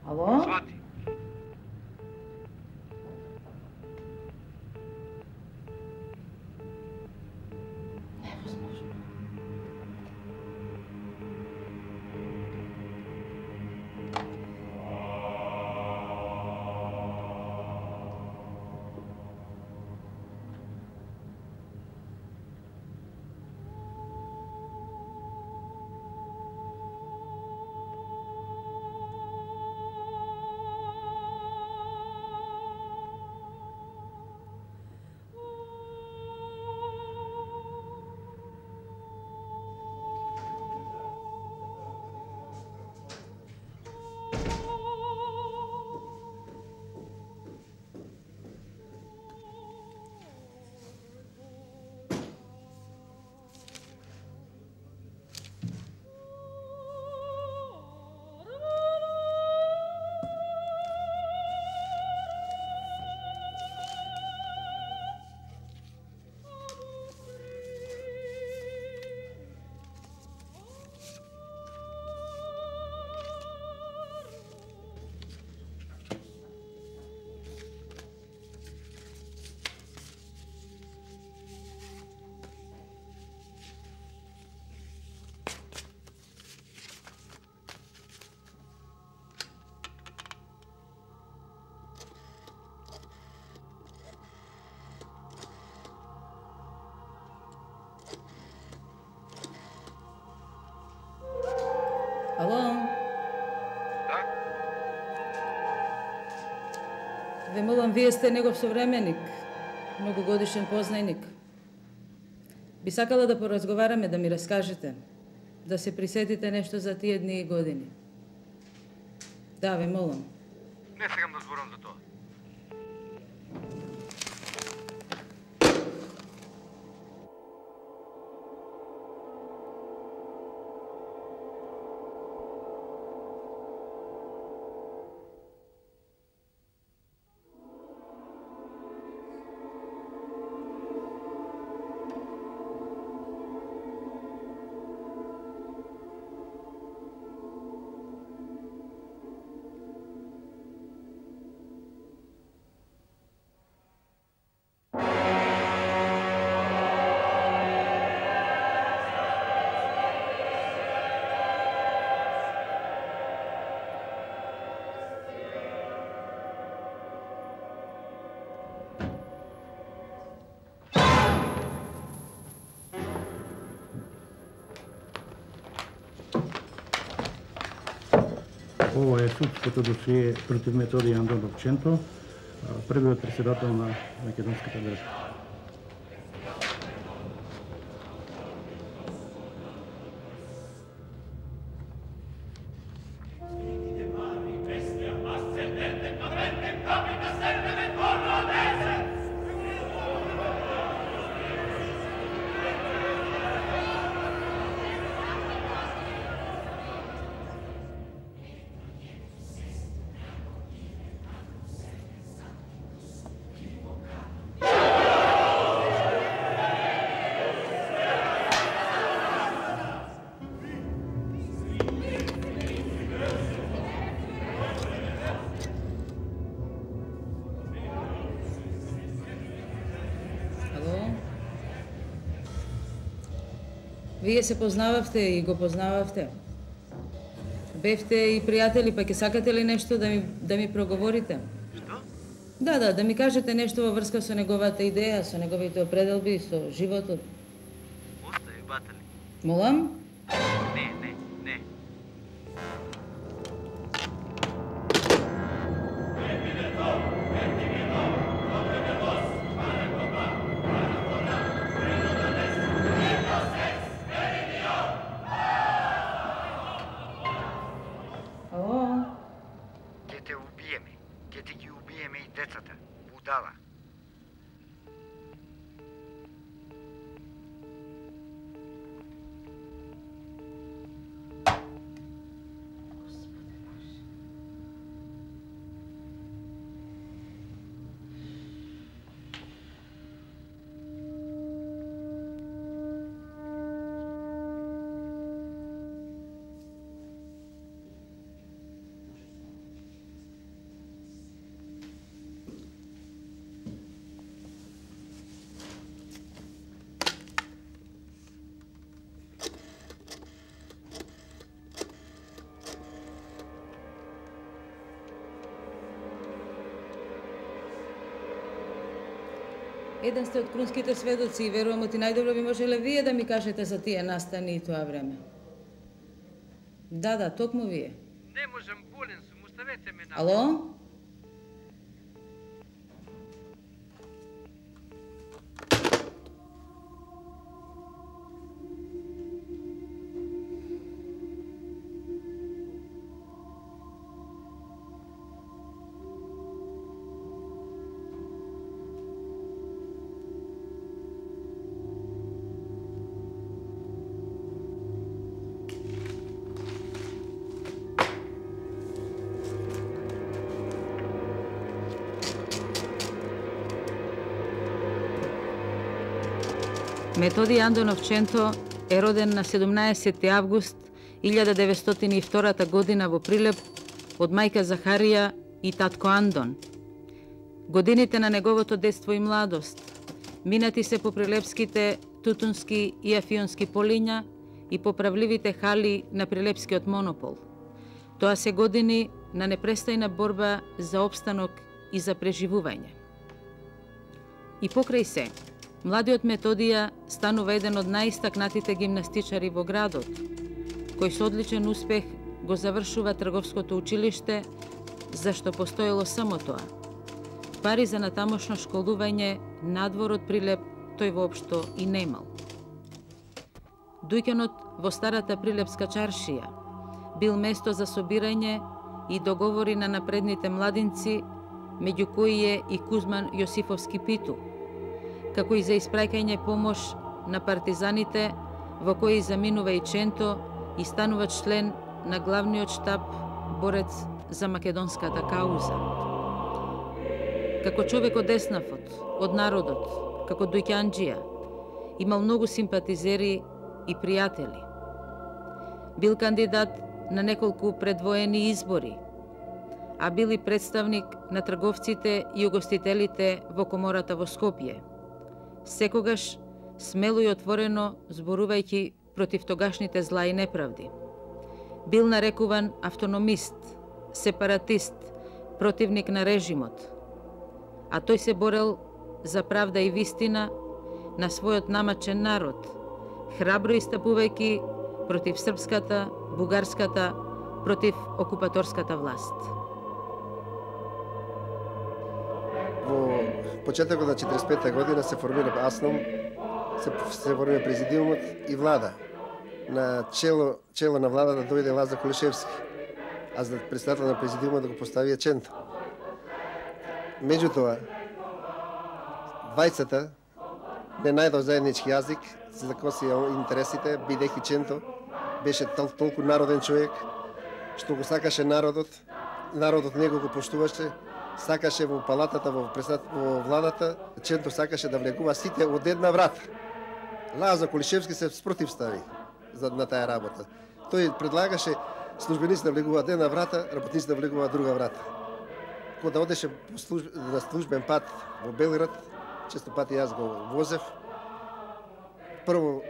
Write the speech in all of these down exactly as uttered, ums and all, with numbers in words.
Ало? Свати. Невозможно. Ало? Да? Ве молам, вие сте негов современик, многогодишен познајник. Би сакала да поразговараме, да ми раскажете, да се присетите нешто за тие дни и години. Да, ве молам. Не сегам да зборам за тоа. Ова е судското досие против Методи Андон Овченто, првиот председател на Македонската држава. Вие се познававте и го познававте. Бевте и пријатели, па ќе сакате ли нешто да ми, да ми проговорите? Што? Да, да, да ми кажете нешто во врска со неговата идеја, со неговите определби, со животот. Остави, батали. Молам? Не, не, не. Децата, будала. Еден сте од крунските сведоци и верувам оти најдобро би можеле вие да ми кажете за тие настани и тоа време. Да, да, токму вие. Не можам, болен сум, оставете ме на... Ало? Методи Андонов Ченто е роден на седумнаесети август илјада деветстотини и втора година во Прилеп од мајка Захарија и татко Андон. Годините на неговото детство и младост минати се по прилепските тутунски и афионски полиња и поправливите хали на прилепскиот монопол. Тоа се години на непрестајна борба за опстанок и за преживување. И покрај се, младиот Методија станува еден од најистакнатите гимнастичари во градот, кој со одличен успех го завршува трговското училиште, зашто постоело само тоа. Пари за натамошно школување надвор од Прилеп тој воопшто и немал. Дуќанот во старата прилепска чаршија бил место за собирање и договори на напредните младинци, меѓу кои е и Кузман Јосифовски Питу, како и за испраќање помош на партизаните, во кои заминува и Ченто и станува член на главниот штаб борец за македонската кауза. Како човек од еснафот, од народот, како дуќанџија, имал многу симпатизери и пријатели. Бил кандидат на неколку предвоени избори, а бил и представник на трговците и угостителите во комората во Скопје. Секогаш смело и отворено зборувајќи против тогашните зла и неправди. Бил нарекуван автономист, сепаратист, противник на режимот, а тој се борел за правда и вистина на својот намачен народ, храбро истапувајќи против српската, бугарската, против окупаторската власт. Во почетокот на четиридесет и пета година се формира АСНОМ, се, се формира президиумот и влада. На чело, чело на владата дојде Лазар Кулишевски, а за председател на президиумот да го поставија Ченто. Меѓутоа, двајцата не најдов заеднички јазик, се закосија интересите, бидејќи Ченто беше тол, толку народен човек, што го сакаше народот, народот него го поштуваше, сакаше во палатата, во, во владата, Ченто сакаше да влегува сите од една врата. Лазар Кулишевски се спротивстави за, на таа работа. Тој предлагаше службеници да влегуваат една врата, работници да влегуваат друга врата. Кога да одеше служб, на службен пат во Белград, често пати јас го возев, прво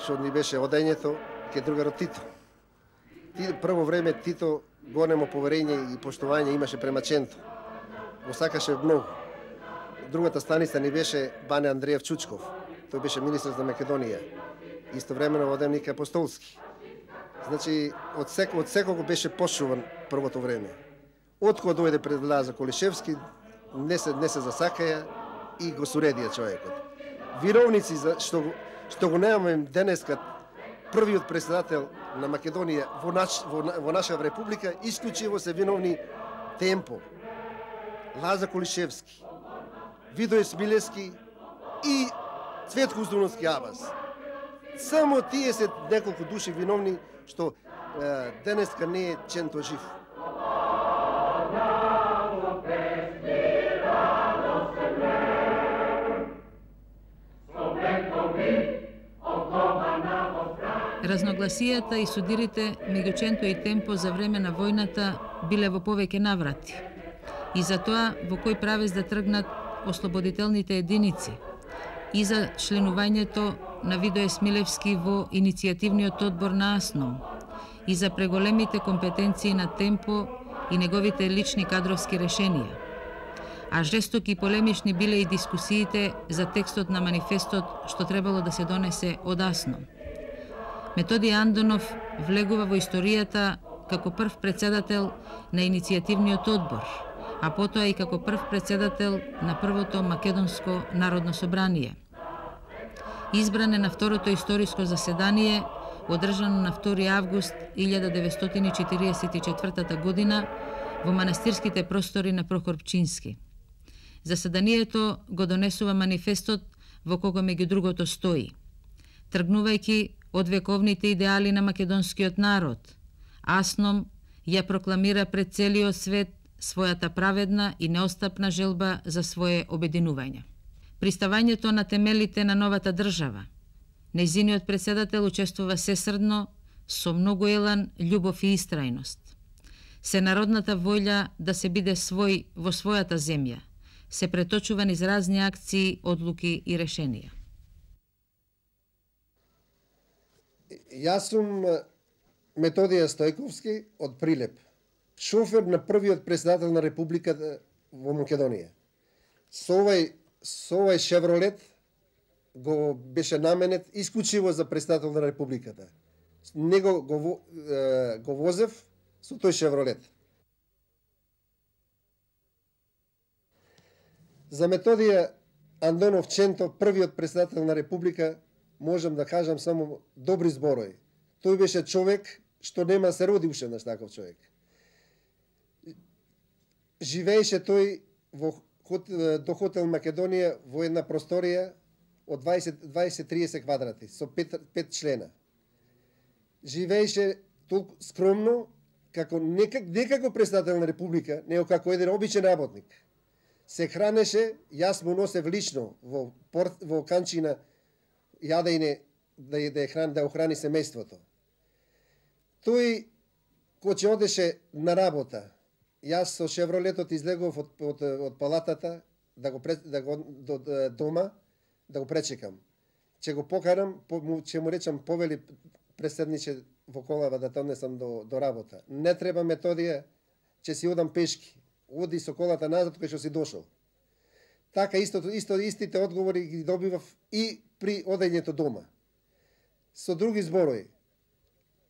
што ни беше одењето ке другарот Тито. Прво време Тито големо поверење и поштување имаше према Ченто. Го сакаше многу. Другата станица ни беше Бане Андреев Чучков. Тој беше министр за Македонија. Истовремено воденик апостолски. Значи, од, сек, од секого беше пошуван првото време. Откога дојде пред Лазар Кулишевски, не се, не се засакаја и го суредија човекот. Виновници за што, што го немаме денеска првиот председател на Македонија во, наш, во, во наша република, исклучиво се виновни Темпо, Лазар Кулишевски, Видој Смилевски и Цветко Уздуновски Абас. Само тие се неколку души виновни што е, денеска не е Ченто жив. Разногласијата и судирите меѓу Ченто и Темпо за време на војната биле во повеќе наврати. И за тоа во кој правец да тргнат ослободителните единици, и за членувањето на Видој Смилевски во иницијативниот одбор на АСНОМ, и за преголемите компетенции на Темпо и неговите лични кадровски решенија. а жестоки и полемични биле и дискусиите за текстот на манифестот што требало да се донесе одасно. Методи Андонов влегува во историјата како прв председател на иницијативниот одбор, а потоа и како прв председател на првото Македонско народно собрание. Избран е на второто историско заседание, одржано на втори август илјада деветстотини четиридесет и четвртата година во манастирските простори на Прокоп Пчински. Заседанието го донесува манифестот во кого меѓу другото стои: тргнувајќи од вековните идеали на македонскиот народ, Асном ја прокламира пред целиот свет својата праведна и неостапна желба за свое обединување. Приставањето на темелите на новата држава, нејзиниот председател учествува сесрдно, со многу елан, љубов и истрајност. Се народната волја да се биде свој во својата земја се преточува низ разни акции, одлуки и решенија. Јас сум Методија Стојковски од Прилеп, шофер на првиот председател на Републиката во Македонија. Со овај, со овај Шевролет го беше наменет исклучиво за председател на Републиката. Него го, е, го возев со тој Шевролет. За Методија Андонов Ченто, првиот председател на Република, можам да кажам само добри зборови. Тој беше човек што нема се роди уште наш таков човек. Живееше тој во до хотел Македонија во една просторија од дваесет до триесет квадрати со пет, пет члена. Живееше толку скромно, како не, не како председател на Република, него како еден обичен работник. Се хранеше, јас му носев лично во порт, во канчина јадење да да храни да охрани семејството. Тој кога одеше на работа, јас со Шевролетот излегов од, од, од палатата да го да го до, до дома да го пречекам. Че го покарам, че му речам повели преседниче во колава да те однесам до до работа. Не треба Методија, че си одам пешки. Оди со колата назад кај што си дошол. Така истото исто истите одговори ги добивав и при одењето дома. Со други зборови,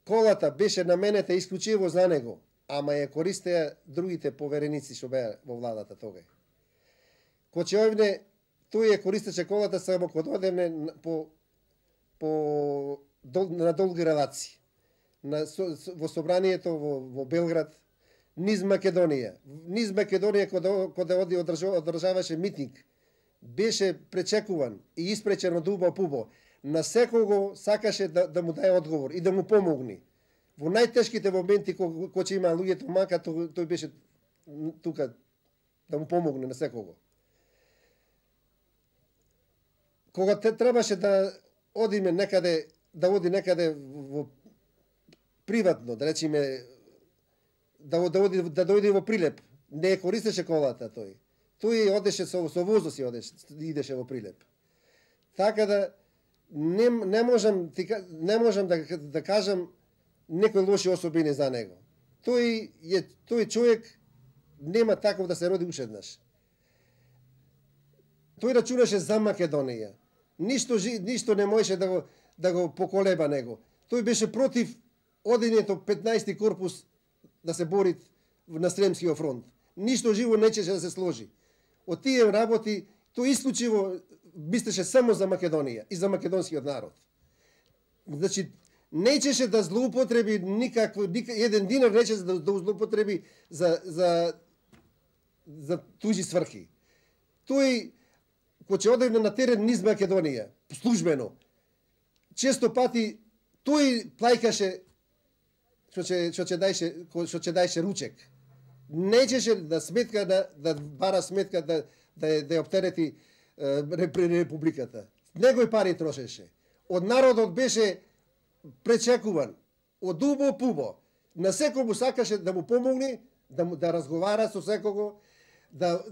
колата беше наменета исклучиво за него, ама ја користеа другите повереници што беа во владата тогај. Кога ќе овне, тој ја користеше колата само кога одевне по по дол, на долги релации. На со, во собранието во, во Белград, низ Македонија. Низ Македонија кога кога оди одржаваше митинг, беше пречекуван и испречен од убо пубо. На секого сакаше да, да му даде одговор и да му помогне. Во најтешките моменти кога ко ќе има луѓето мака, тој, тој беше тука да му помогне на секого. Кога те требаше да одиме некаде, да оди некаде во приватно, да речеме да да оди да дојде во Прилеп, не користеше колата тој. Тој одеше со со возо си одеше, идеше во Прилеп. Така да не не можам не можам да да кажам некои лоши особини за него. Тој е тој човек нема таков да се роди уште еднаш. Тој рачунаше за Македонија. Ништо ништо не можеше да го да го поколеба него. Тој беше против одењето петнаести корпус да се бори на Сремскиот фронт. Ништо живо нечеше да се сложи. Од тие работи тој исклучиво мислеше само за Македонија и за македонскиот народ. Значи, нечеше да злоупотреби никакво, никак, еден динар нечеше да, да злоупотреби за, за, за туѓи сврхи. Тој, кога ќе одевне на терен низ Македонија, службено, често пати тој плајкаше што ќе што ќе дајше што ќе дајше ручек. Нечеше да сметка да да бара сметка да да да ја оптерети Републиката. Негои пари трошеше. Од народот беше пречекуван. Од убо пубо. На секого сакаше да му помогне, да му да разговара со секого, да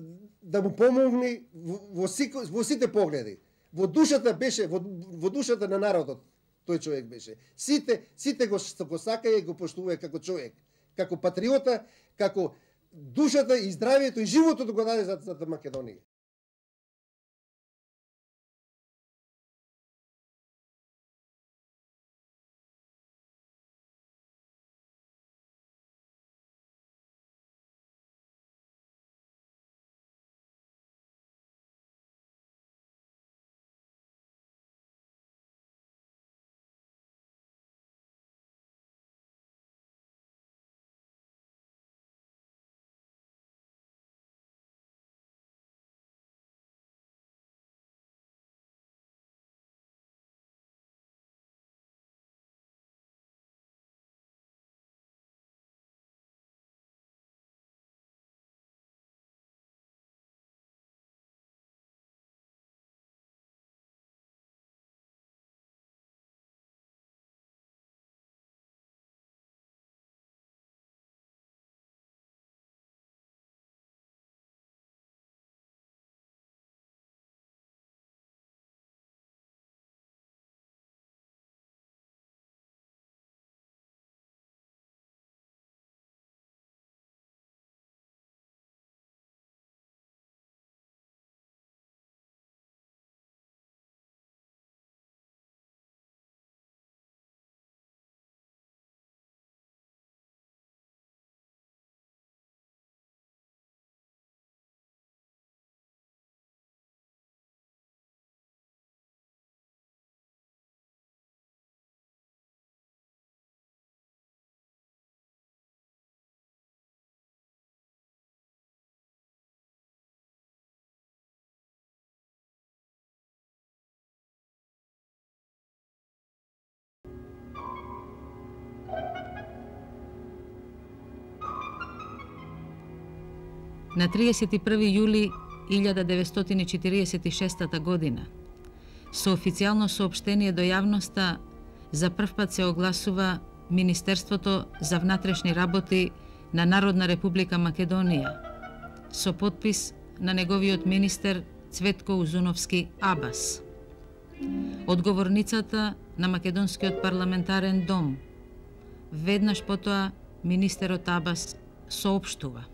да му помогне во, во, во сите погледи. Во душата беше во, во душата на народот тој човек беше. Сите сите го го сакаја и го поштуваја како човек, како патриота, како душата и здравието и животот го даде за, за Македонија. На триесет и први јули илјада деветстотини четириесет и шеста година, со официјално соопштение до јавноста, за прв пат се огласува Министерството за внатрешни работи на Народна република Македонија, со подпис на неговиот министер Цветко Узуновски Абас. Одговорницата на Македонскиот парламентарен дом. Веднаш потоа министерот Абас соопштува: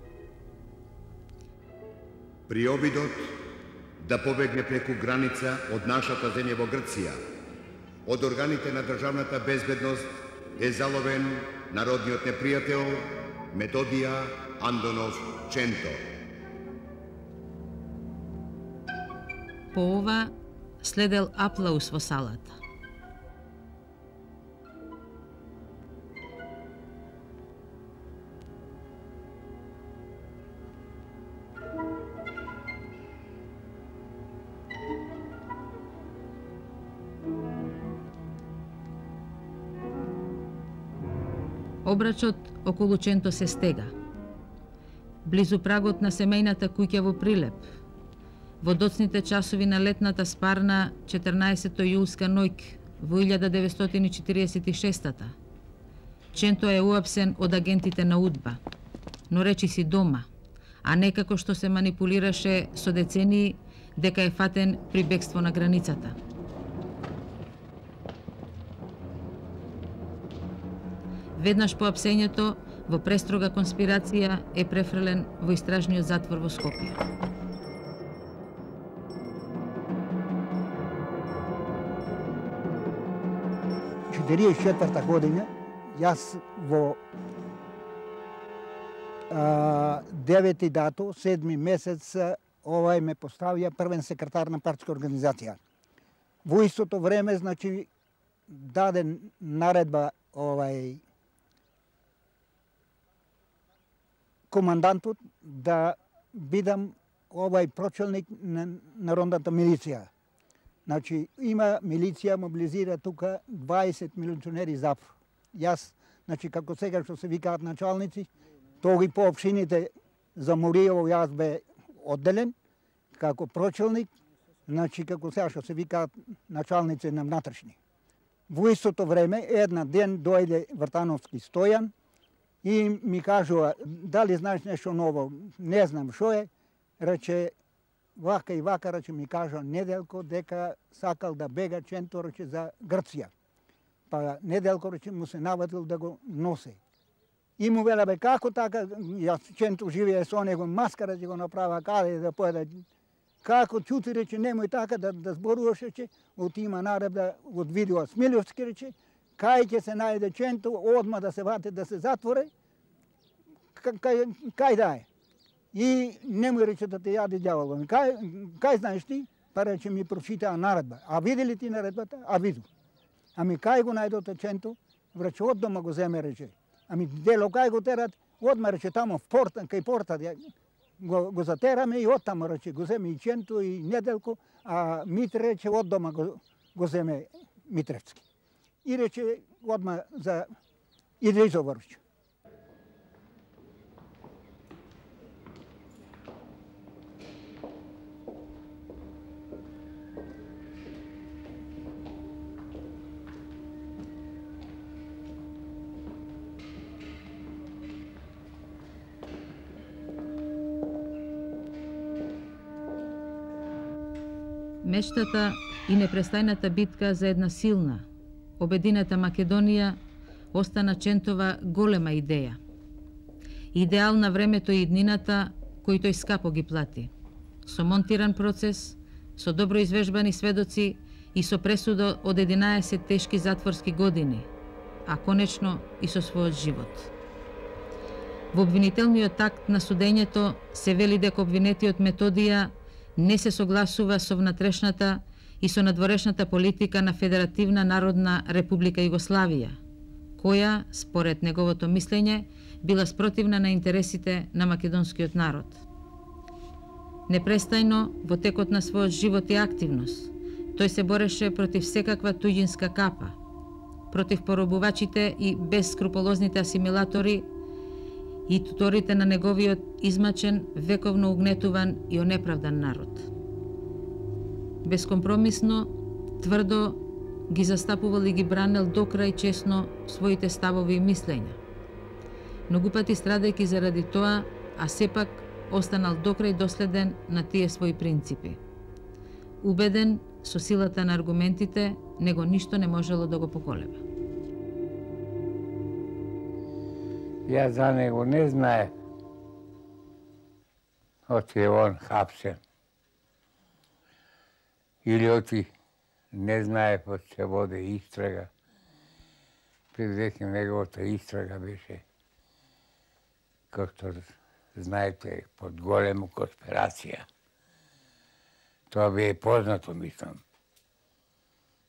при обидот да побегне преку граница од нашата земја во Грција, од органите на државната безбедност е заловен народниот непријател Методија Андонов Ченто. По ова следел аплауз во салата. Обрачот околу Ченто се стега. Близу прагот на семејната куќа во Прилеп, во доцните часови на летната спарна четрнаесетто јулска ноќ во илјада деветстотини четириесет и шеста. Ченто е уапсен од агентите на УДБА, но речи си дома, а не како што се манипулираше со децении дека е фатен при бегство на границата. Веднаш по апсењето, во престрога конспирација е префрлен во истражниот затвор во Скопје. четириесет и четврта година, јас во а, девети дато, седми месец, овај ме поставија првен секретар на партиска организација. Во истото време, значи, даде наредба овај командантот да бидам овај прочелник на народната милиција. Значи, има милиција, мобилизира тука дваесет милиционери запор. Јас, значи, како сега што се викаат началници, тоги по општините за Муриево јас бе одделен, како прочелник, значи, како сега што се викаат началници на внатрешни. Во истото време, една ден дојде Вртановски Стојан, и ми кажува, дали знаеш нешто ново? Не знам шо е. Рече, вака и вака, рече, ми кажа Неделко дека сакал да бега Ченто, рече, за Грција. Па Неделко, рече, му се навадил да го носи. И му вела, бе, како така, јас Ченто живее со него, маскара ќе го направа каде да поеда. Како чути, рече, немој така да, да зборуваш, рече, отима наредба од видео Смилјовски, рече, кај ќе се најде Ченто, одма да се вате, да се затворе, кај, кај да е. И немој, рече, да те јаде ѓаволот. Кај, кај знаеш ти? Па рече, ми прочитаа наредба. А види ли ти наредбата? А виду. Ами кај го најдоте Ченто? Враче, од дома го земе, рече. Ами дело кај го терат? Одма, рече, тамо в порта, кај порта, го, го затераме и оттамо, рече, го земе и Ченто и Неделко, а Митре, рече, од дома го, го земе Митревски. И рече, одма за Идрисо Врвич. Мештата и непрестајната битка за една силна, обединета Македонија остана Чентова голема идеја. Идеал на времето и иднината кој тој скапо ги плати. Со монтиран процес, со добро извежбани сведоци и со пресуда од единаесет тешки затворски години, а конечно и со својот живот. Во обвинителниот акт на судењето се вели дека обвинетиот Методија не се согласува со внатрешната и со надворешната политика на Федеративна Народна Република Југославија, која, според неговото мислење, била спротивна на интересите на македонскиот народ. Непрестајно, во текот на својот живот и активност, тој се бореше против секаква туѓинска капа, против поробувачите и безскрупулозните асимилатори и туторите на неговиот измачен, вековно угнетуван и онеправдан народ. Безкомпромисно, тврдо ги застапувал и ги бранел докрај честно своите ставови и мислења. Многу пати страдајќи заради тоа, а сепак останал докрај доследен на тие своји принципи. Убеден со силата на аргументите, него ништо не можело да го поколеба. Јас за него не знае. Оти е он хапсен. Или оти не знае под се воде истрага. Предвеќе неговата истрага беше, како што знаете, под голема конспирација. Тоа бе познато, мислам.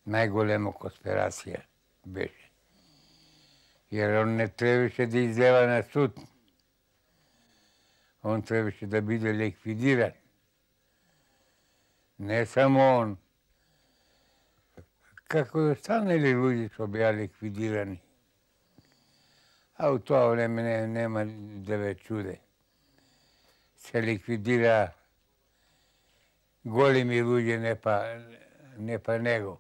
Најголема конспирација беше. Jer on ne trebаше да излева на суд. Он трябваше да биде ликвидиран. Не само он. Како и останали луѓе што беа ликвидирани. А у тоа време не, нема да ве чуде. Се ликвидира големи луѓе, не па, не па него.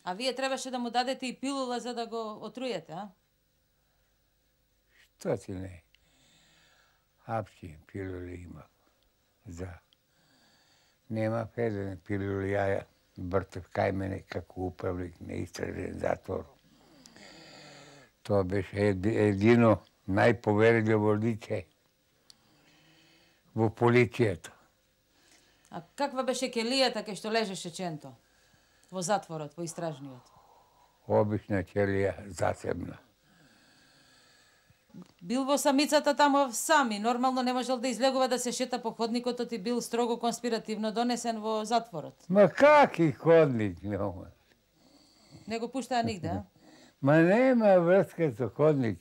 А вие требаше да му дадете и пилула за да го отруете, а? Што ти не? Апси пилули има. За. Нема еден пилули, ја бртев кај мене како управник на истражен затвор. Тоа беше едино најповерливо лице во полицијата. А каква беше келијата кај што лежеше Ченто? Во затворот, во истражниот? Обична келија, засебна. Бил во самицата тамо сами, нормално не можел да излегува да се шета по ходникот и бил строго конспиративно донесен во затворот. Ма каки ходник нема? Не го пуштаа нигде, а? Ма нема врска со ходник.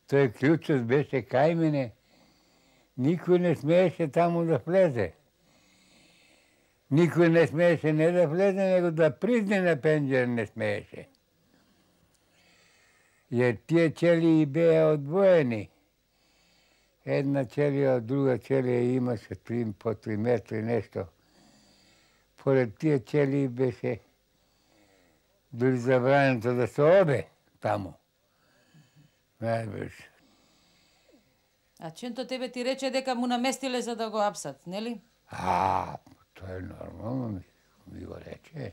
Тој клучот беше кај мене. Никој не смееше таму да влезе. Никој не смееше не да влезе, него да призне на пенџер не смееше. Jer tije ćeliji bеа одвоени. Една ćelija од друга ćelija имаше три по три метри нешто. Поред тие ćeliji беше дури забрането да се оде таму. Знаеш. А Ченто тебе ти рече дека му наместиле за да го апсат, нели? А, тоа е нормално ми, ми го рече.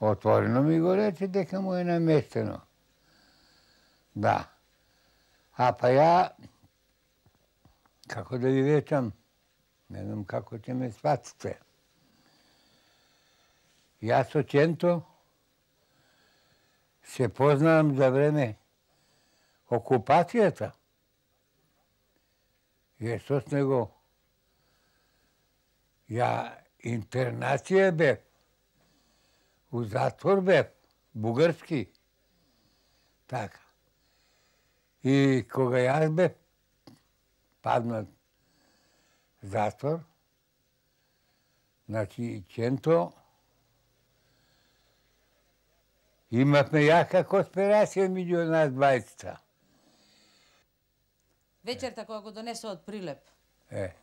Отворено ми го рече дека му е наместено. Да. А па ја, како да ви речам, не знам како ќе ме сватите. Јас со Ченто се познавам за време окупацијата. Ја со него ја интернација бев, у затвор бев, бугарски. Така. И кога јас бев паднат затвор, значи Ченто имавме јака конспирација меѓу нас двајцата. Вечерта кога го донесо од Прилеп, Е,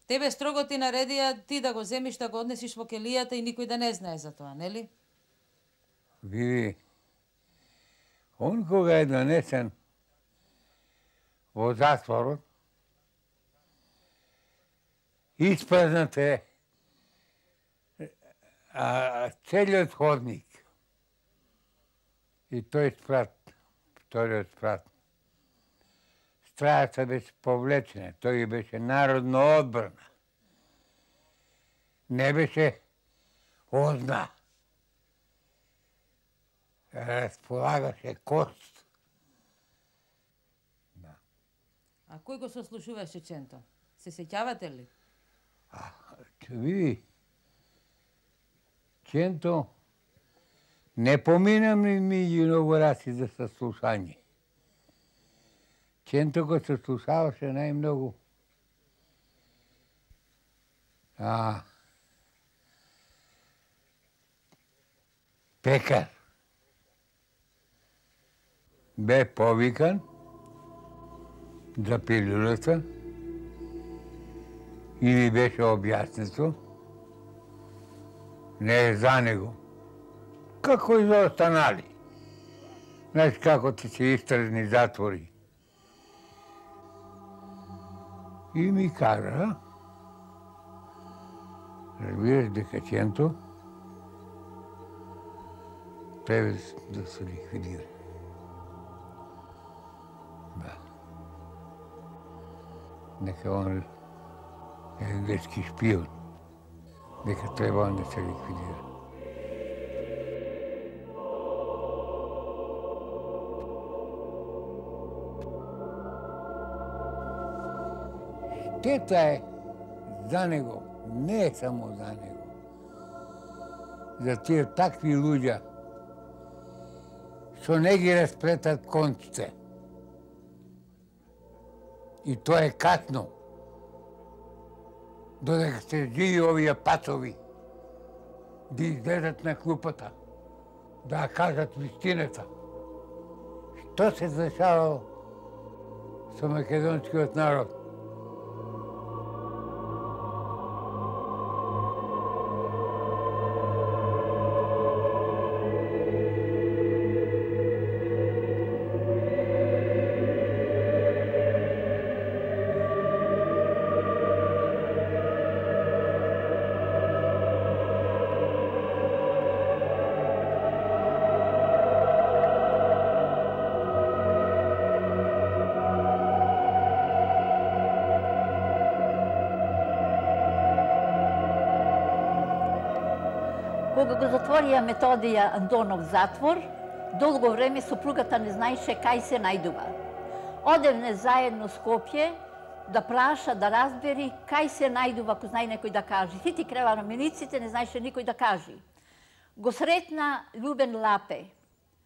тебе строго ти наредија ти да го земиш, да го однесиш во келијата и никој да не знае за тоа, нели? види, он кога е донесен во затворот, испразнат е а, целиот ходник. И тој спрат, вториот спрат. Стражата беше повлечена, тој беше народна одбрана. Не беше озна. Располагаше кост. Да. А кој го сослушуваше Ченто? Се сеќавате ли? А, ќе види, Ченто не поминам ли меѓу инаугурации за саслушање. Ченто го саслушаваше најмногу. А, пекар. Бе повикан за пилулата и ми беше објаснето не е за него. Како и за останали. Знаеш како ти се истразни затвори. И ми кажа, разбираш дека Ченто треба да се ликвидира. Да. Дека он е англиски шпион. Дека треба он да се ликвидира. Штета е за него, не е само за него. За тие такви луѓа што не ги расплетат конците. И тоа е катно. Додека се живи овие пацови, да излезат на клупата, да кажат вистината. Што се дешавало со македонскиот народ? Кога го затворија Методија Антонов затвор, долго време сопругата не знаеше кај се најдува. Одевне заедно Скопје да праша, да разбери кај се најдува, ако знае некој да каже. Хити крева на милиците, не знаеше никој да каже. Го сретна Љубен Лапе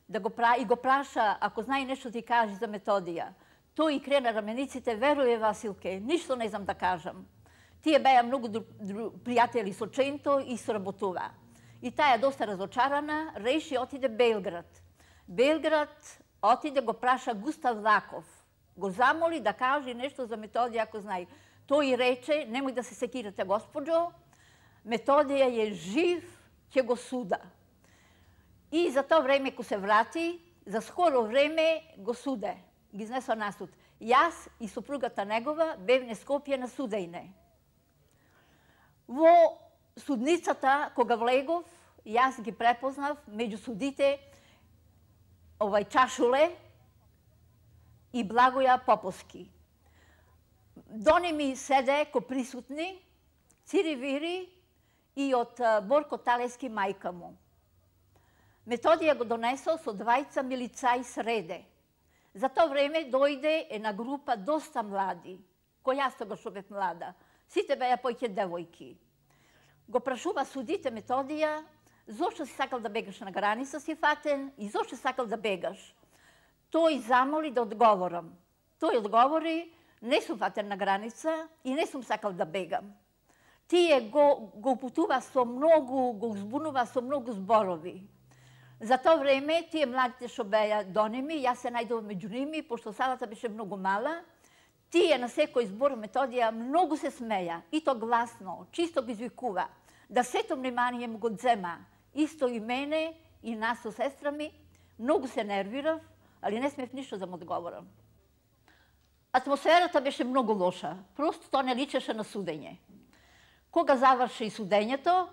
да го пра... и го праша, ако знае нешто ти каже за Методија. Тој и крена рамениците, веруе Василке, ништо не знам да кажам. Тие беа многу дру... дру... пријатели со Ченто и соработува. И таја доста разочарана, реши отиде Белград. Белград отиде го праша Густав Лаков. Го замоли да каже нешто за Методија, ако знае. Тој рече, немој да се секирате, госпоđо, Методија е жив, ќе го суда. И за тоа време, ко се врати, за скоро време го суде. Ги изнесо на суд. Јас и супругата негова бевне Скопје на судејне. Во судницата, кога влегов, јас ги препознав меѓу судите овај Чашуле и Благоја Поповски. До ними седе ко присутни Цири Вири и од Борко Талески мајка му. Методија го донесол со двајца милицаи среде. За тоа време дојде една група доста млади, кој јас тогаш бев млада. Сите беа поќе девојки. Го прашува судите Методија, зошто си сакал да бегаш на граница, си фатен, и зошто сакал да бегаш? Тој замоли да одговорам. Тој одговори, не сум фатен на граница и не сум сакал да бегам. Тие го, го упутува со многу, го збунува со многу зборови. За тоа време, тие младите што беа до ними, јас се најдов меѓу ними, пошто салата беше многу мала, тие на секој збор Методија многу се смеја, и то гласно, чисто го извикува, да сето внимание му го дзема, исто и мене, и нас со сестра ми, многу се нервирав, али не смев ништо да му одговорам. Атмосферата беше многу лоша, просто тоа не личеше на судење. Кога заврши судењето,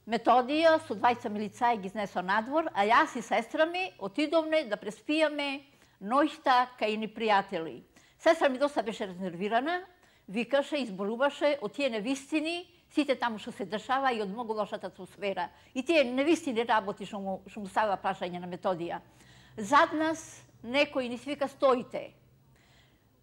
Методија со двајца милицаи ги изнесо надвор, а јас и сестра ми отидовме да преспијаме ноќта кај ни пријатели. Сестра ми доста беше разнервирана, викаше, изборуваше од тие невистини, сите таму што се дешава и од многу лошата атмосфера. И тие невистини работи што му, што му ставила прашање на Методија. Зад нас некој ни свика стоите.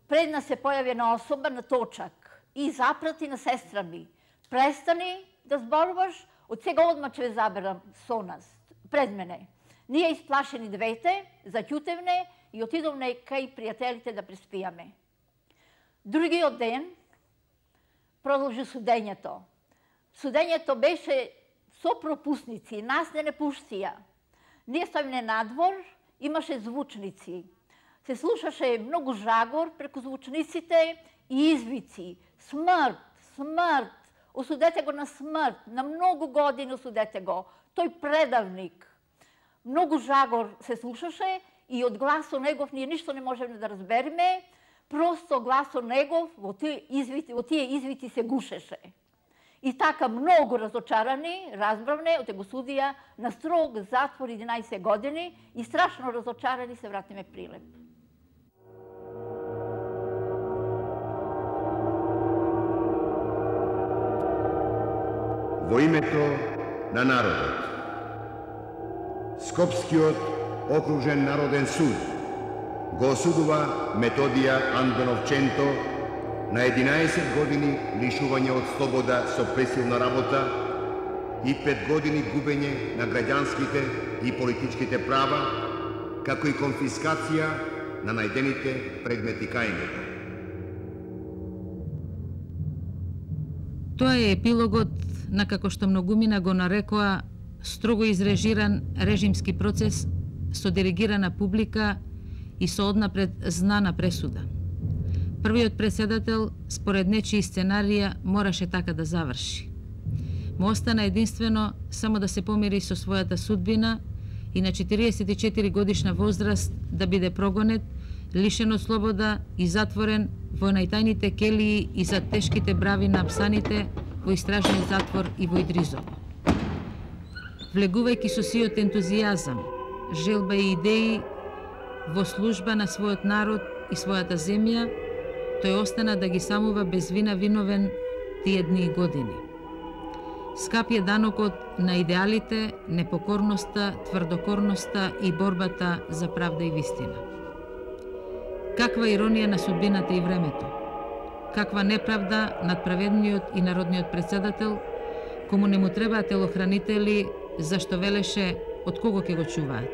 Пред нас се појави една особа на точак и запрати на сестра ми. Престани да зборуваш, од сега одма ќе ве заберам со нас, пред мене. Ние исплашени двете, заќутевне и отидовме кај пријателите да преспијаме. Другиот ден продолжи судењето. Судењето беше со пропусници, нас не не пуштија. Ние ставиме надвор, имаше звучници. Се слушаше многу жагор преку звучниците и извици. Смрт, смрт, осудете го на смрт, на многу години осудете го. Тој предавник. Многу жагор се слушаше и од гласот негов ние ништо не можеме да разбереме, просто гласот негов во тие извити, во тие извити се гушеше. И така многу разочарани, разбравне, оте го судија на строг затвор единаесет години и страшно разочарани се вратиме Прилеп. Во името на народот. Скопскиот окружен народен суд го осудува Методија Андоновченто на единаесет години лишување од слобода со пресилна работа и пет години губење на граѓанските и политичките права, како и конфискација на најдените предмети кај него. Тоа е епилогот на, како што многумина го нарекоа, строго изрежиран режимски процес со диригирана публика и со однапред знана пресуда. Првиот председател, според нечии сценарија, мораше така да заврши. Му остана единствено само да се помири со својата судбина и на четириесет и четири годишна возраст да биде прогонет, лишен од слобода и затворен во најтајните келии и за тешките брави на апсаните во истражниот затвор и во Идризово. Влегувајќи со сиот ентузијазам, желба и идеи во служба на својот народ и својата земја, тој остана да ги самува без вина виновен тие дни и години. Скап е данокот на идеалите, непокорноста, тврдокорноста и борбата за правда и вистина. Каква иронија на судбината и времето, каква неправда над праведниот и народниот председател, кому не му требаат телохранители, зашто велеше од кого ќе го чуваат.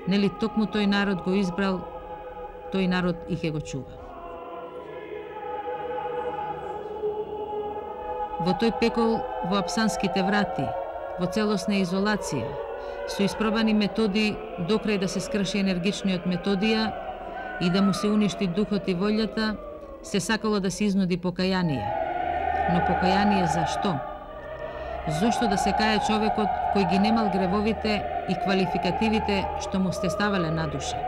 Нели токму тој народ го избрал, тој народ и ќе го чува. Во тој пекол, во апсанските врати, во целосна изолација, со испробани методи докрај да се скрши енергичниот Методија и да му се уништи духот и волјата, се сакало да се изнуди покаяние. Но покаяние за што? Зошто да се кае човекот кој ги немал гревовите и квалификативите што му стеставале на душа?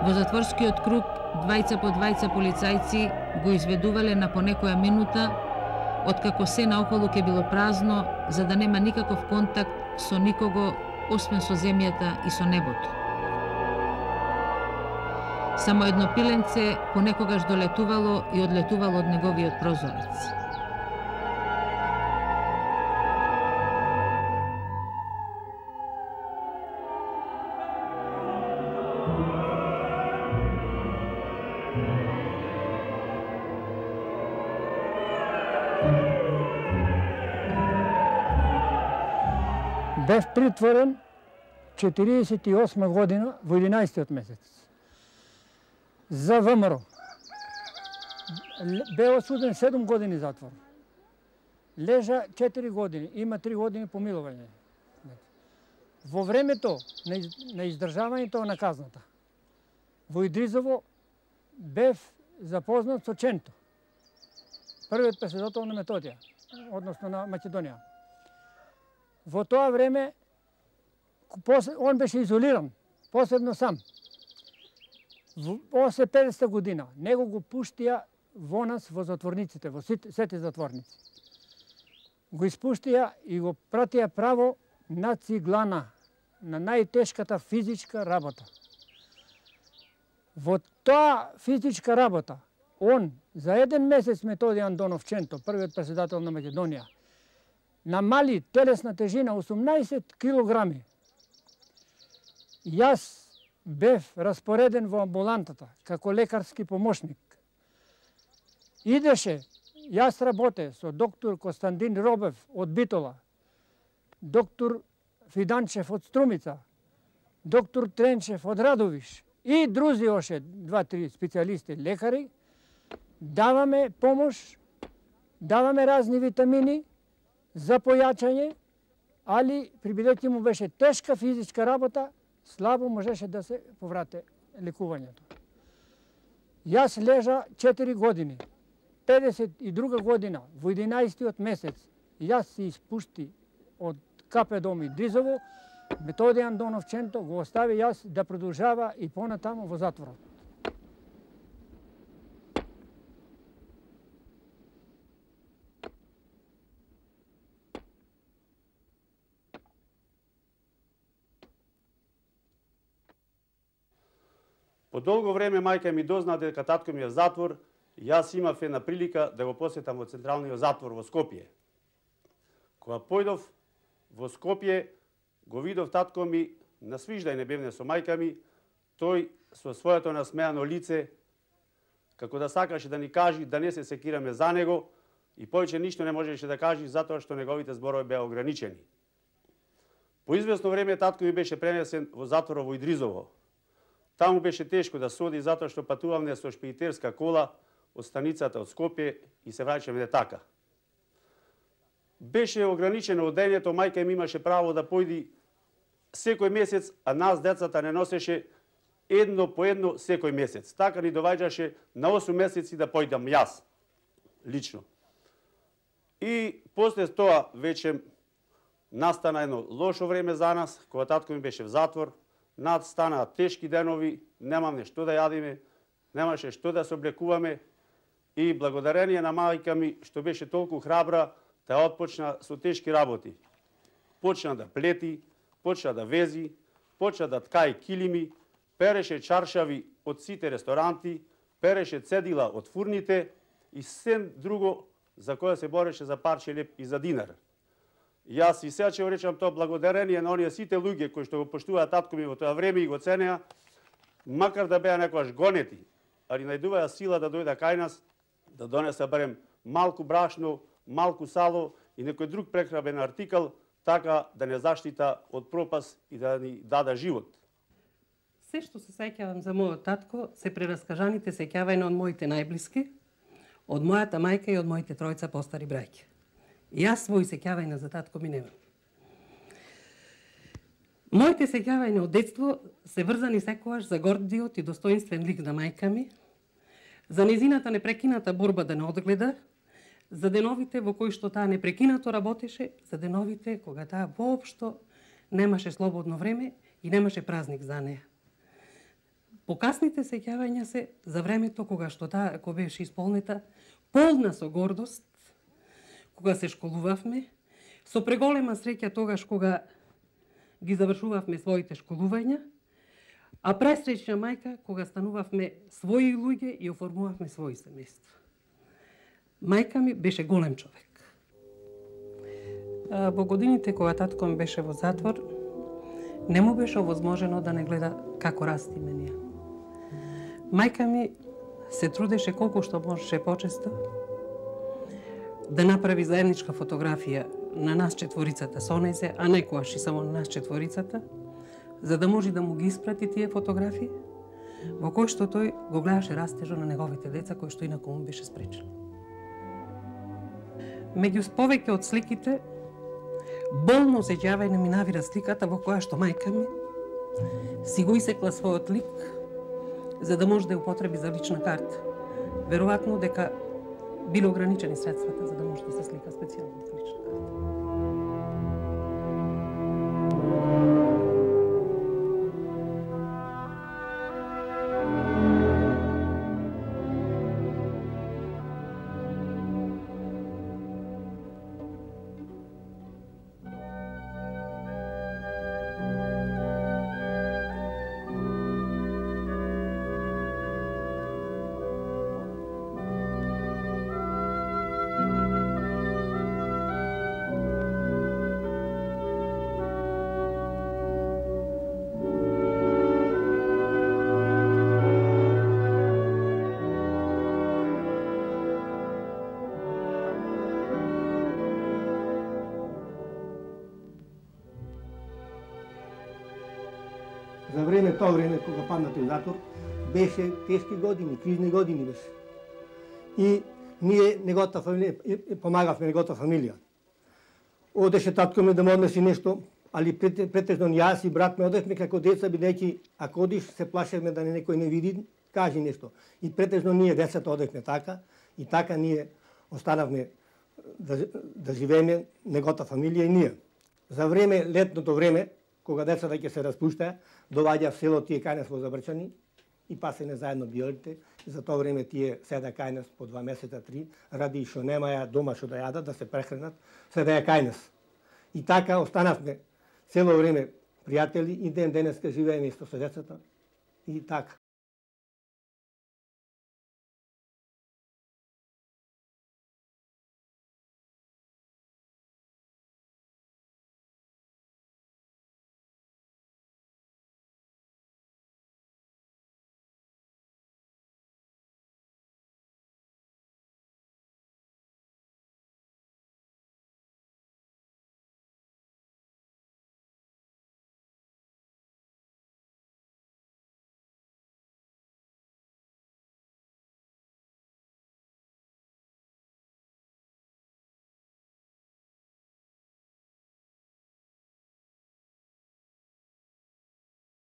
Во затворскиот круг, двајца по двајца полицајци го изведувале на по некоја минута, откако се наоколу ке било празно, за да нема никаков контакт со никого, освен со земјата и со небото. Само едно пиленце понекогаш долетувало и одлетувало од неговиот прозорец. Бев притворен четириесет и осма година во единаесеттиот месец за ВМРО. Бе осуден седум години затвор. Лежа четири години, има три години помилување. Во времето на издржавањето на казната, во Идризово бев запознат со Ченто, првиот председател на Методија, односно на Македонија. Во тоа време он беше изолиран, посебно сам. Во педесета година него го пуштија во нас во затворниците, во сите затворници. Го испуштија и го пратија право на Циглана, на најтешката физичка работа. Во тоа физичка работа, он за еден месец Методија Андонов Ченто, првиот председател на Македонија, намали телесна тежина осумнаесет килограми. Јас бев распореден во амбулантата како лекарски помошник. Идеше, јас работе со доктор Костандин Робев од Битола, доктор Фиданчев од Струмица, доктор Тренчев од Радовиш и друзи оше два-три специјалисти лекари. Даваме помош, даваме разни витамини за појачање, али прибидејќи му беше тешка физичка работа, слабо можеше да се поврате лекувањето. Јас лежа четири години. педесет и друга година, во единаесеттиот месец, јас се испушти од КП Дом Идризово, Методија Андонов Ченто го остави јас да продолжава и понатаму во затворот. По долго време мајка ми дозна дека татко ми е в затвор и јас имав една прилика да го посетам во централниот затвор во Скопје. Кога појдов во Скопје, го видов татко ми на свиждај не бевне со мајка ми, тој со своето насмеано лице, како да сакаше да ни кажи да не се секираме за него и повеќе ништо не можеше да кажи затоа што неговите зборови беа ограничени. По известно време татко ми беше пренесен во затворот во Идризово. Таму беше тешко да соди затоа што патувавме со шпедитерска кола од станицата од Скопје и се враќаме така. Беше ограничено одењето, мајка ми имаше право да појди секој месец, а нас децата не носеше едно по едно секој месец. Така ни доваѓаше на осум месеци да појдам јас, лично. И после тоа веќе настана едно лошо време за нас, кога татко ми беше в затвор, над станаа тешки денови, немаме што да јадиме, немаше што да се облекуваме и благодарение на мајка ми што беше толку храбра, таа отпочна со тешки работи. Почна да плети, почна да вези, почна да ткаи килими, переше чаршави од сите ресторанти, переше цедила од фурните и сен друго за кое се бореше за парче леп и за динар. Јас и сега ќе го речам тоа благодарение на оние сите луѓе кои што го поштуваат татко ми во тоа време и го ценеа, макар да беа некојаш гонети, али најдуваја сила да дојда кај нас, да донеса барем малку брашно, малку сало и некој друг прехранбен артикал, така да не заштита од пропаст и да ни даде живот. Се што се сеќавам за мојот татко се прераскажаните сеќавања од моите најблиски, од мојата мајка и од моите тројца постари браќа. Јас своји сеќавања за татко ми немам. Моите сеќавања од детство се врзани секогаш за гордиот и достоинствен лик на мајка ми, за незината непрекината борба да не одгледа, за деновите во кои што таа непрекинато работеше, за деновите кога таа воопшто немаше слободно време и немаше празник за неа. Покасните сеќавања се за времето кога што таа кога беше исполнета, полна со гордост, кога се школувавме, со преголема среќа тогаш кога ги завршувавме своите школувања, А пресреќна мајка кога станувавме своји луѓе и оформувавме своји семејства. Мајка ми беше голем човек. Во годините кога татко ми беше во затвор, не му беше овозможено да не гледа како растиме ние. Мајка ми се трудеше колку што можеше почесто да направи заедничка фотографија на нас четворицата со незе, а некојаш и само на нас четворицата, за да може да му ги испрати тие фотографии, во кои што тој го гледаше растежот на неговите деца, кои што инаку му беше спречено. Меѓу повеќе од сликите, болно осеќавање ми навира сликата во која што мајка ми си го исекла својот лик, за да може да ја употреби за лична карта. Веројатно дека биле ограничени средствата за да може да се слика специјално за лична карта. За време, тоа време, кога паднате в затвор, беше тешки години, кризни години беше. И ние, неговата фамилија, помагавме неговата фамилија. Одеше татко ми да му однеси нешто, али претежно јас и брат ме одевме како деца, бидејќи ако одиш се плашевме да не некој не види, кажи нешто. И претежно ние децата одевме така, и така ние останавме да, да живееме неговата фамилија и ние. За време, летното време, кога децата ќе се распуштаа, доаѓа в село тие кај нас во Забрчани и пасене заедно биолите. За тоа време тие седа кај нас по два месеца, три, ради што немаја дома што да јадат, да се прехранат, седеа кај нас. И така останавме цело време пријатели и ден денеска живееме исто со децата и така.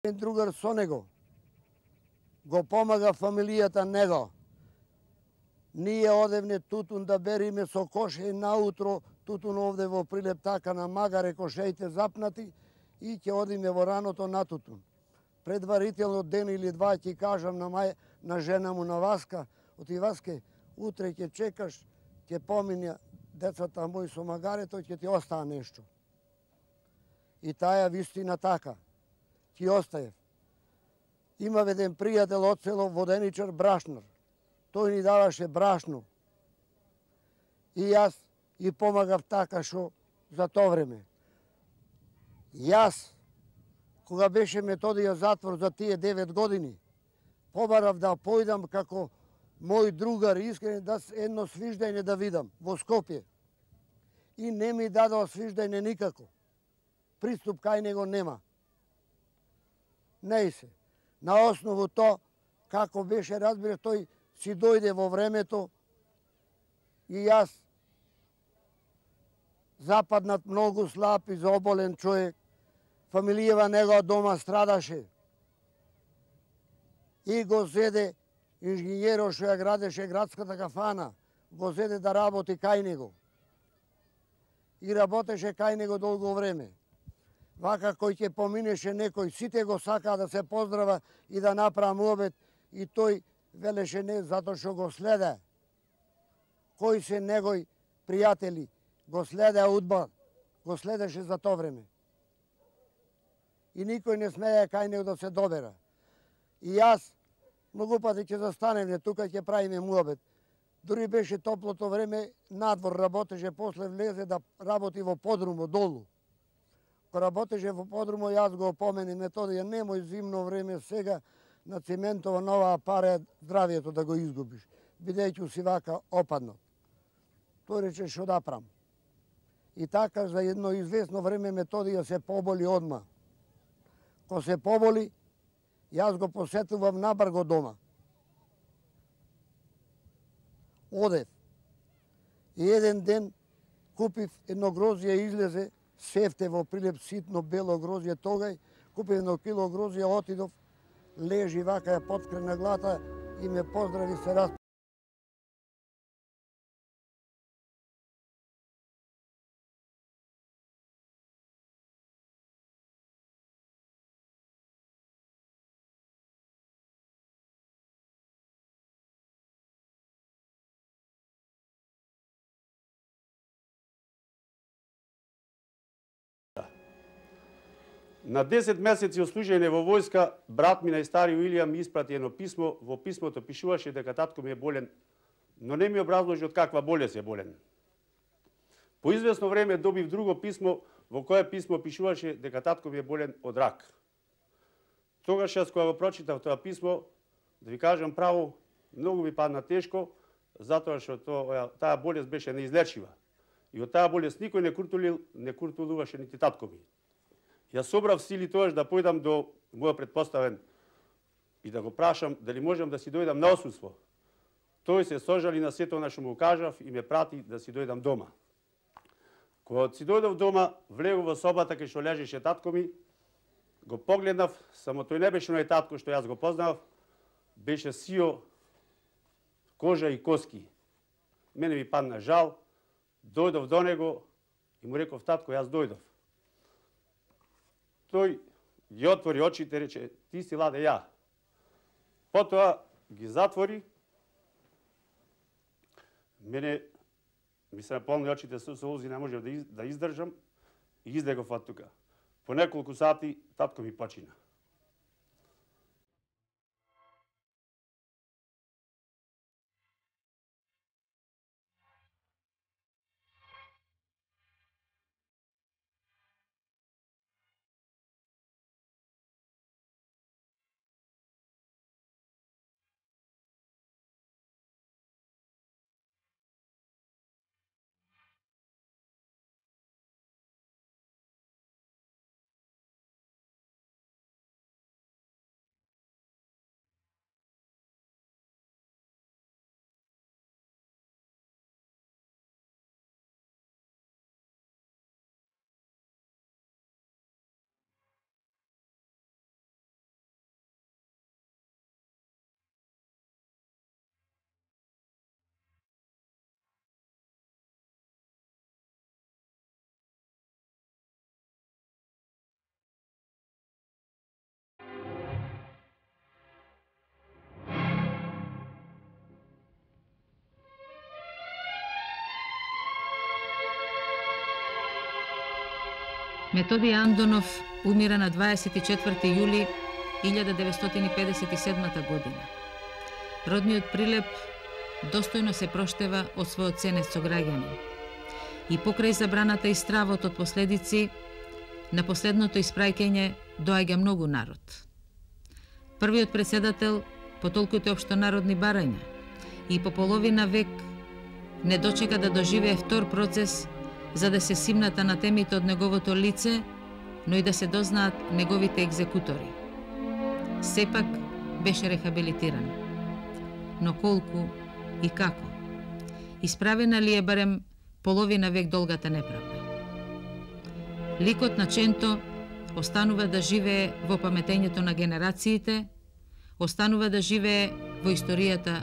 Другар со него го помага фамилијата него. Ние одевне тутун да бериме со коше наутро, тутун овде во прилеп така на магаре, кошеите запнати и ќе одиме во раното на тутун. Предварително ден или два ќе кажам на мај, на жена му на Васка, оти Васке, утре ќе чекаш, ќе помине децата мои со магарето, ќе ти остаа нешто. И таја вистина така. Ти остаев. Има еден пријател од село Воденичар Брашнар. Тој ни даваше брашно. И јас и помагав така што за тоа време. Јас, кога беше Методија затвор за тие девет години, побарав да појдам како мој другар искрен да едно свиждање да видам во Скопје. И не ми дадоа свиждање никако. Приступ кај него нема. Не се. На основу тоа, како беше, разбира, тој си дојде во времето и јас западнат многу слаб и заоболен човек, фамилијава негова дома страдаше. И го зеде инженеро што ја градеше градската кафана, го зеде да работи кај него. И работеше кај него долго време. Вака кој ќе поминеше некој, сите го сакаа да се поздрава и да направи муабет, и тој велеше не затоа што го следе. Кои се негои пријатели го следеа удба, го следеше за тоа време. И никој не смеја кај него да се добера. И јас многу пати ќе застанеме тука, ќе правиме муабет. Дури беше топлото време, надвор работеше, после влезе да работи во подрумо долу. Кога работеше во подрумо, јас го опомене Методија, немој зимно време сега на циментова нова пара здравието да го изгубиш, бидејќи си вака опаднат. Тој рече што да прам. И така за едно известно време Методија се поболи одма. Кога се поболи, јас го посетувам набрго дома. Одев. И еден ден купив едно грозје, излезе, севте во прилеп ситно бело грозје тогај, купив едно кило грозје, отидов, лежи вака ја подкрена глата и ме поздрави се раз. На десет месеци од служење во војска, брат ми најстари Уилијам ми испрати едно писмо, во писмото пишуваше дека татко ми е болен, но не ми образложи од каква болест е болен. По известно време добив друго писмо, во кое писмо пишуваше дека татко ми е болен од рак. Тогаш јас кога го прочитав тоа писмо, да ви кажам право, многу ми падна тешко, затоа што таа болест беше неизлечива. И од таа болест никој не куртулил, не куртулуваше нити татко ми. Јас собрав сили тоаш да појдам до мојот предпоставен и да го прашам дали можам да си дојдам на осуство. Тој се сожали на сето на што му кажав и ме прати да си дојдам дома. Кога си дојдов дома, влегов во собата кај што лежеше татко ми, го погледнав, само тој не беше оној татко што јас го познав, беше сио, кожа и коски. Мене ми падна жал, дојдов до него и му реков: татко, јас дојдов. Тој ги отвори очите и рече: ти си Ладе ја. Потоа ги затвори. Мене ми се наполни очите со солзи, не можев да издржам и излегов од тука. По неколку сати татко ми почина. Методија Андонов умира на дваесет и четврти јули илјада деветстотини педесет и седма година. Родниот Прилеп достојно се проштева од својот ценет сограѓанин. И покрај забраната и стравот од последици, на последното испраќање доаѓа многу народ. Првиот председател по толкуте општонародни барања и по половина век не дочека да доживее втор процес за да се симната на темите од неговото лице, но и да се дознаат неговите екзекутори. Сепак беше рехабилитиран. Но колку и како? Исправена ли е барем половина век долгата неправда? Ликот на Ченто останува да живее во паметењето на генерациите, останува да живее во историјата